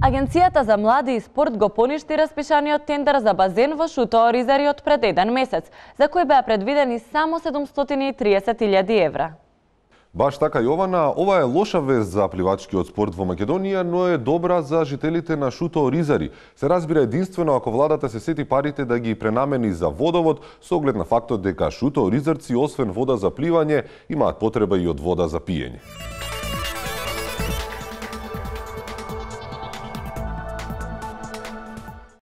Агенцијата за млади и спорт го поништи распишаниот тендер за базен во Шуто Оризари од пред 1 месец, за кој беа предвидени само 730.000 евра. Баш така, Јована, ова е лоша вест за пливачкиот спорт во Македонија, но е добра за жителите на Шуто Оризари. Се разбира единствено ако владата се сети парите да ги пренамени за водовод, со оглед на фактот дека Шуто Оризарци, освен вода за пливање, имаат потреба и од вода за пиење.